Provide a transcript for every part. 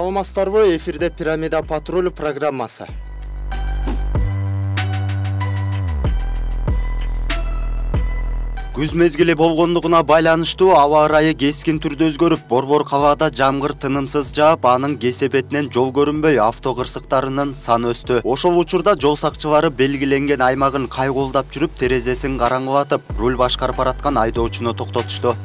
Саламатсыздарбы, эфирде Пирамида патруль программасы. Күз мезгили болгондугуна байланыштуу аба ырайы кескин түрдө өзгөрүп, борбор кабада жамгыр тынымсыз жаап, анын кесепетинен жол көрүнбөй авто кырсыктарынын саны өстү. Ошол учурда жол сакчылары белгиленген аймагын кайгуулдап жүрүп, терезесин караңгылатып, руль башкарып бараткан айдоочуну токтотушту.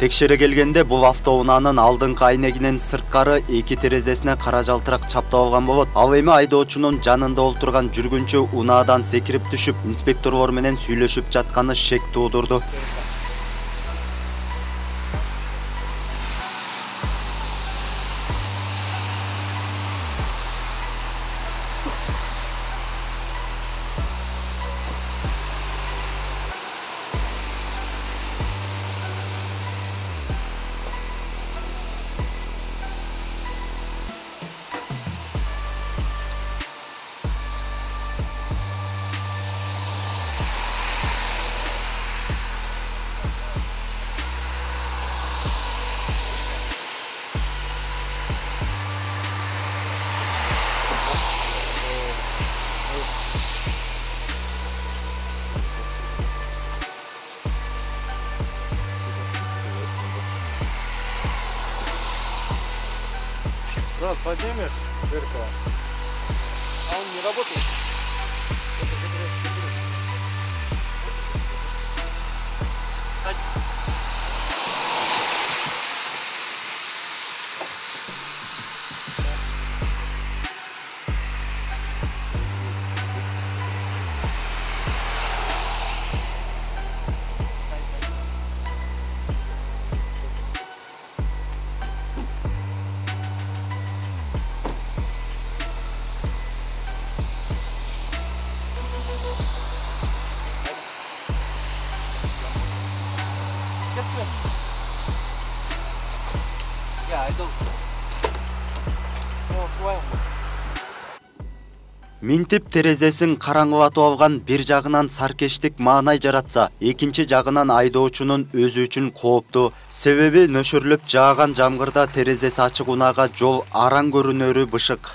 Текшере келгенде бул автоунаанын алдыңкы айнегинин сырткары эки терезесине кара жалтырак чаптап алган болот. Ал эми айдоочунун жанында олтурган жүргүнчү унаадан секирип түшүп, инспекторлор менен сүйлөшүп жатканы шек туудурду. Брат, поднимешь зеркало? А он не работает? Минтип терезесин караңгылатып алган бир жагынан саркештик маанай жаратса, экинчи жагынан айдоочунун өзү үчүн кооптуу. Себеби нөшөрлөп жааган жамгырда терезеси ачык унаага жол араң көрүнөрү бышык.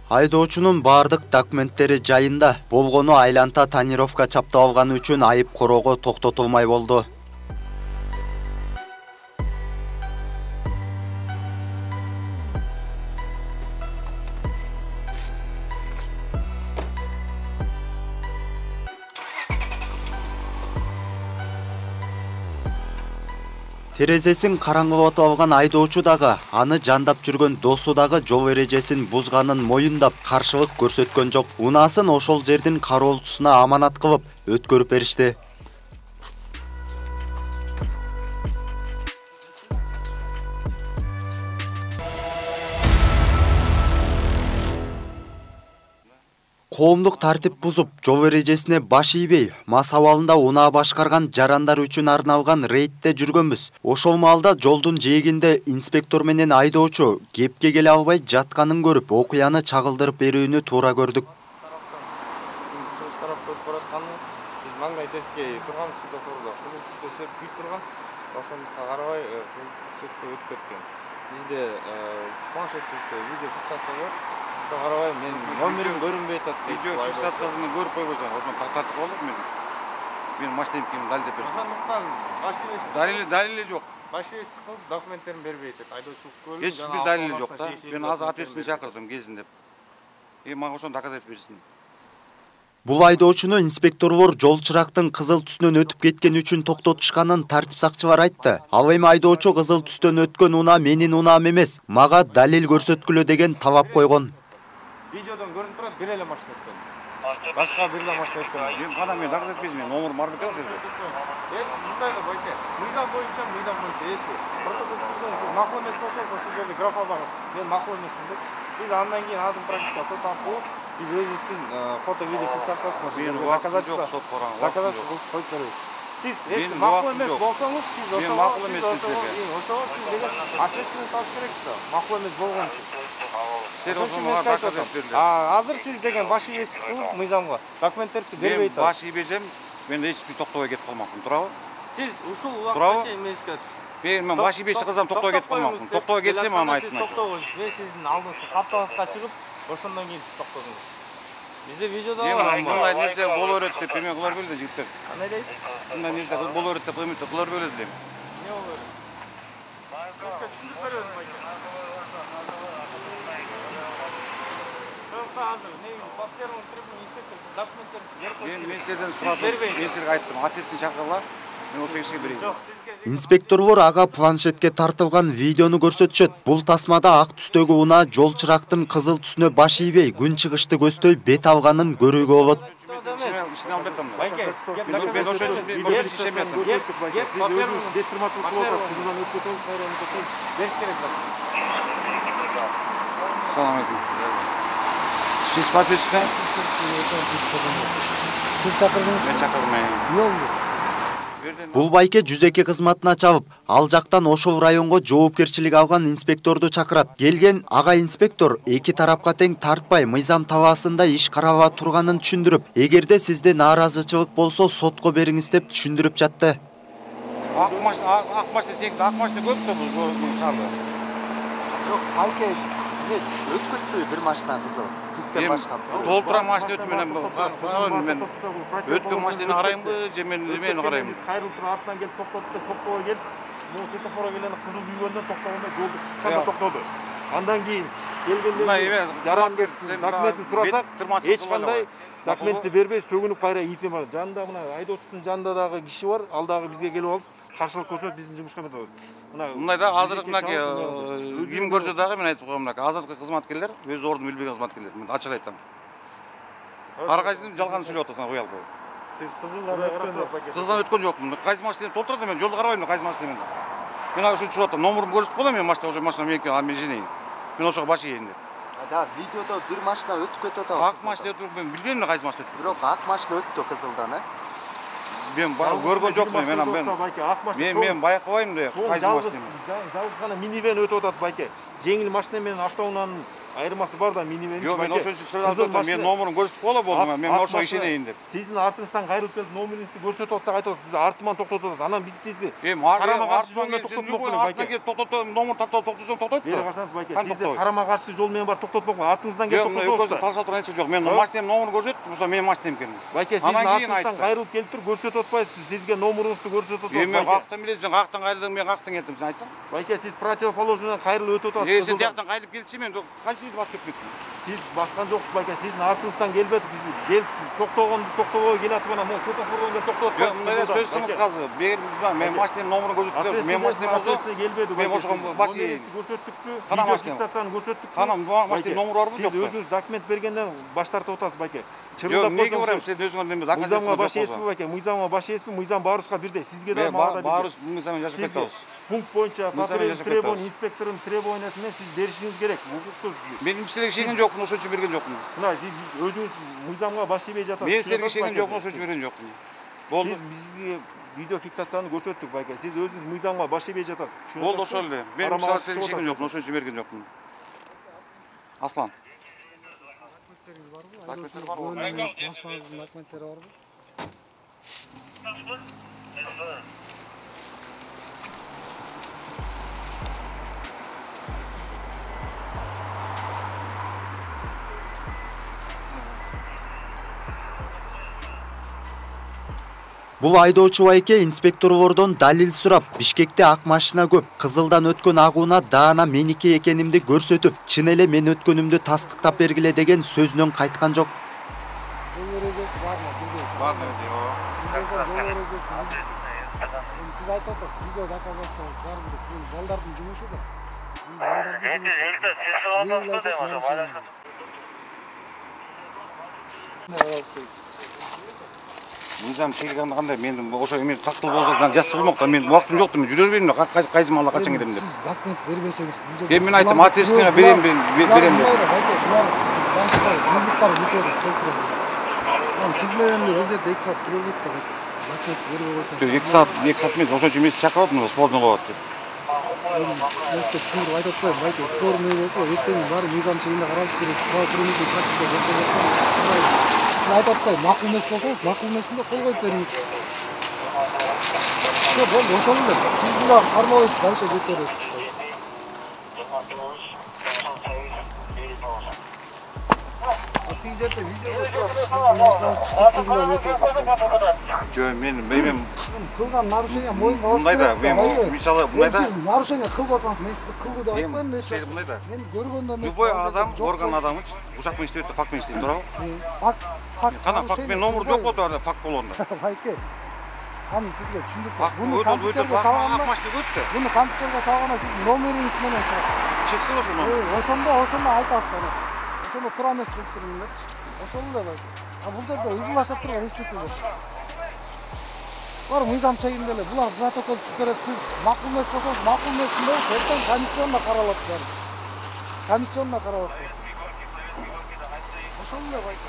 Айдоочунун бардык документтери жайында, болгону айланта тонировка чаптап алганы үчүн айып короого токтотулмай болду. Терезесин караңгылатып алган айдоочу дагы, аны жандап жүргөн досу дагы жол эрежесин бузганын моюндап, каршылык көрсөткөн жок. Унаасын ошол жердин кароолчусуна аманат кылып өткөрүп беришти. Коомдук тартип бузуп, жол эрежесине баш ийбей, мас абалында унаа башкарган жарандар үчүн арналган рейдте жүргөнбүз. Ошол маалда жолдун жээгинде инспектор менен айдоочу кепке келе албай жатканын көрүп, окуяны чагылдырып берүүнү туура көрдүк. Чыгыш тарапка өтүп баратканы, биз маңдай тескей турган светофордо кызыл түстө сөп күйүп турган. Ошондукка карабай кызыл сөткө өтүп кеткен. Бизде планшет түстө видео фиксация бар. Ошого карабай мен номерим көрүнбөй атат дейт. Видео фиксациясын көрүп койбосоң, ошону тартып коелук мен. Мен машинамдыкин далилдеп берсем. Ошондуктан башыбыз Далили жок. башыбызды кылып документтерин бербей атат. Айдоочулук көлүк. Эч бир далили жок да. Мен азыр ответственный чакырдым келсин деп. Мага ошону доказать берсин. Бул айдоочуну инспекторлор жол чырактын кызыл түсүнөн өтүп кеткени үчүн токтотушканын тартип сакчылар айтты. Ал эми айдоочу кызыл түстөн өткөн унаа менин унаам эмес, мага далил көрсөткүлө деген талап койгон. Видеодон көрүнүп турат, бир эле машина өткөн. Башка бир эле машина өткөн. Мен кана мен доказать берсин, мен номерим бар бекен ошол жерде. Мындай да бойке. Мыйзам боюнча, если протокол түзгөн, сиз макул эмес болсоңуз, ошол жерде графа бар. Мен макул эмесмин депчи. Биз андан кийин адым практика сот аркылуу биз өзүбүздүн фото видео фиксациясын доказательство коюп беребиз. Сиз Менин макул убактым эмес жок. болсоңуз, сиз Мен макул эмес ошого сиз деген ответственность алыш керексиз да. Макул эмес болгон үчүн. Азыр сиз деген баш ийбестик кылып мыйзамга документтерди бербей атасыз. Мен баш ийбесем, мен эч бир токтобой кетип калмакмын, туурабы? Сиз ушул убакытка чейин эмеске Мен баш ийбестик кылсам токтобой кетип калмакмын. Токтобой кетсем аны айтып токтогончу. Мен сиздин алдыңызга каптабызга чыгып, ошондон кийин сиз токтодуңуз. Бизде видеодо бар. Мындай нерсе боло берет деп эме кылар беле жигиттер. Кандай дейсиз? Мындай нерсе боло берет деп эме кылар беле дем. Эмне боло берет? Сизге түшүндүрүп беребиз байке. Азыр негизи паспортный требование инспектор документтерди берип коюш керек. Мен сизден сурадым, мен сизге айттым, ответственный чакыргыла, мен ошол кишиге берейин. Жок, Инспекторлор ага планшетке тартылган видеону көрсөтүшөт. Бул тасмада ак түстөгү унаа жол чырактын кызыл түсүнө баш ийбей, күн чыгышты көздөй бет алганын көрүүгө болот. İşini albetim. Байке, Ben o şey işemedim. Selamünaleyküm. Siz patrisine? Siz çakırdınız Ben mı? çakırdım. Ne oldu? Бул байке жүзеке кызматына чабып, ал жактан ошол районго жоопкерчилик алган инспекторду чакырат. Келген ага инспектор эки тарапка тең тартпай мыйзам талаасында иш карала турганын түшүндүрүп, эгерде сизде нааразычылык болсо сотко бериңиз деп түшүндүрүп жатты. Акмашты секти, акмашты көп да бул шаарда. Жок, байке өткөтпөй бир машина кызыл. Систем башка. Толтура машина өтмөнөн мен өткөн машинаны карайынбы, же мен эмени карайынбы? Кайрылып туруп артынан келип токтотса, токтобой келип, бул светофорго келени кызыл күйгөндөн токтогондо жолду кысканда токтоду. Андан кийин келгенде жарангер документин сурасак, эч кандай документти бербей сөгүнүп кайра итип бар. Жанында мына айдоочусунун жанында дагы киши бар, ал дагы бизге келип алып, каршылык көрсөтүп биздин жумушка метет. Мындай да азыркы мынакей ким көрсө дагы мен айтып коем, мынакей азыркы кызматкерлер өз ордун билбеген кызматкерлер. Мен ачык айтам. Ар кайсысын жалган сүйлөп атасың, кой алып. Сиз кызылдан өткөн жоксуз. Кызылдан өткөн жокмун. Кайсы машинаны толтурат, мен жолду карабайм, кайсы машинаны. Мен ошо сурап атам, номурун көрсөтүп коем, мен машина ошо машина меники, ал мен женейин. Мен ошого баш ийейин деп. Жа видеодо бир машина өтүп кетип атат. Ак машина өтүп, мен билбейм кайсы машина өтүп. Бирок ак машина өттү кызылдан, Мен көргөн жокмун, мен байкабайм да кайсы машина. Жалгыз гана минивен өтүп атат байке. Жеңил машина менен автоунаанын айырмасы бар да минивен. Жок, мен ошо үчүн мен номурун көрсөтүп койгола болдум, мен ошого ишенейин деп. Сиздин артыңыздан кайрылып келип номериңизди көрсөтүп атсак айтат, сиз артыман токтотуп атат. Анан биз сизди карама каршы жол менен токтотуп, номур тартып токтотсоң токтойт да. Бери карасаңыз байке, сизди карама каршы жол менен бар токтотпок, артыңыздан келип токтотуп атат. Талашып турган нерсе жок. Мен машинанын номурун көрсөтүп, ошо менин машинам экен. Байке, сиздин артыңыздан кайрылып келип туруп көрсөтүп атпайсыз, сизге номуруңузду көрсөтүп атат. Мен кактан билесиз, сен кактан кайрылдың, мен кактан кеттим, сен айтсаң. Байке, сиз противоположный кайрылып өтүп атасыз. Сен тияктан кайрылып келчи, мен канча басып кеттим. Сиз баскан жоксуз байке, сиздин артыңыздан келбедик, биз келип токтобой келатып анан могу светофордон келип токтотуп атпайсыз. Жок, мындай сөз кылыңыз казы. Мен машинанын номурун көрсөтүп, мен машинам болсо, мен ошого баш ийейин. Көрсөттүкпү? Кана машина? Фиксацияны көрсөттүкпү? Кана машинанын номуру барбы, жокпу? Сиз өзүңүз документ бергенден баш тартып атасыз байке. Жок, эмнеге барам, сен өзүңөр неме доказательство жок болсо. Мыйзамга баш ийесизби байке? Мыйзамга баш ийесизби? Мыйзам баарыбызга бирдей. Сизге да мага да. Баарыбыз мыйзаммен жашап кетебиз. Пункт боюнча требование инспектордун требованиясы менен сиз беришиңиз керек. Укуктук. Мен силерге ишенген жокмун, ошон үчүн берген жокмун. Мына сиз өзүңүз мыйзамга баш ийбей жатасыз. Мен силерге ишенген жокмун, ошон үчүн берген жокмун. Болду. Сиз бизге видео фиксацияны көрсөттүк байке. Сиз өзүңүз мыйзамга баш ийбей жатасыз. Болду, ошол эле. Мен силерге ишенген жокмун, ошон үчүн берген жокмун. Аслан. Документтер барбы? Машинаңыздын документтери барбы? Бул айдоочу байке инспекторлордон далил сурап, Бишкекте ак машина көп, кызылдан өткөн агууна даана меники экенимди көрсөтүп, чын эле мен өткөнүмдү тастыктап бергиле деген сөзүнөн кайткан жок. Жол эрежеси бармы? Бармы, жок. Сиз айтып атасыз, видео доказательство бар деп, балдардын жумушу да. Мыйзам чегилгенде кандай, мен ошо эме тактыл болсо жазып болмок да, мен убактым жок да, мен жүрө берейин, кайсы маалда качан келем деп. Сиз документ бербесеңиз, Мен айттым, ответственный берем деп. Булар банктар ризыктар бүтөдү, толтурат. Сиз менен бир жерде 2 саат туруу керек да. Рахмет, бербей койсоңуз. 2 саат эмес, ошончо эмес чакырып атып, спордун кылып атты. Эске түшүндүрүп айтып атпайм, байке спорный болсо эртең баары мыйзам чегинде каралыш керек. Буга примитив практика жашап аткан. Сиз айтып атпайм, макул эмес болсоңуз, макул эмесинде кол коюп бериңиз. Болду, ошол эле. Сиз буга кармабайсыз, дальше кете бересиз. Тигизерде видео Жөн, мен кылган нарушение моюнга алыш мындай да, керек. мен мисалы мындай да, Сиз нарушение кылбасаңыз, мен сизди кылды деп айтпайм мен. мындай да. Мен көргөндө эмес. Любой адам, орган адамы ушак менен иштеп атат, факт менен иштейт, туурабы? Факт. Кана факт менен номер жок болду, анда факт болгондо. Байке. Аны сизге түшүндүрүп Факт өтө ак машина өттү. Буну компьютерге салганда сиз номериңиз менен чыгат. Чыксын ошону. Ошондо айтасыз аны. Ошондо туура эмес кылып турдуңдар. Ошол эле байке. А бул жерде ызылашып турган эч нерсе жок. Булар мыйзам чегинде эле. Булар протокол түзүп берет. Сиз макул эмес болсоңуз, макул эмесинде эртең комиссионда каралат баары. Комиссионда каралат. Ошол эле байке.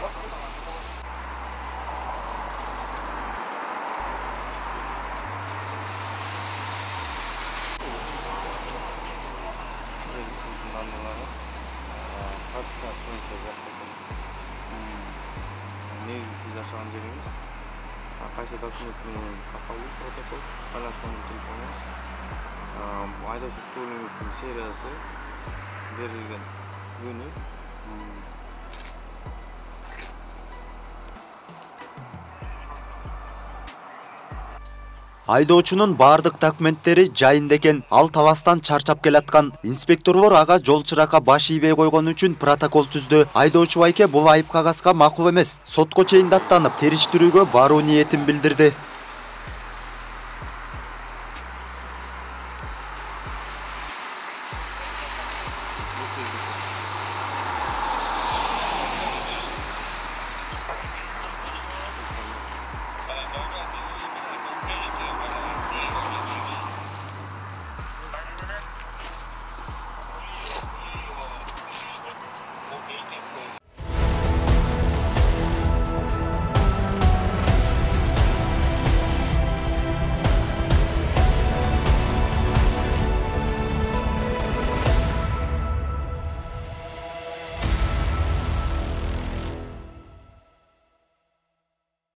Негизи сиз жашаган жериңиз, кайсы документ менен катталды протокол, байланыш номер телефонуңуз, айдоочу автоунаа сериясы, берилген күнү. Айдоочунун бардык документтери жайында экен. Ал табастан чарчап келаткан. Инспекторлор ага жол чыракка баш ийбей койгон үчүн протокол түздү. Айдоочу байке бул айып кагазга макул эмес. Сотко чейин даттанып, териштирүүгө баруу ниетин билдирди.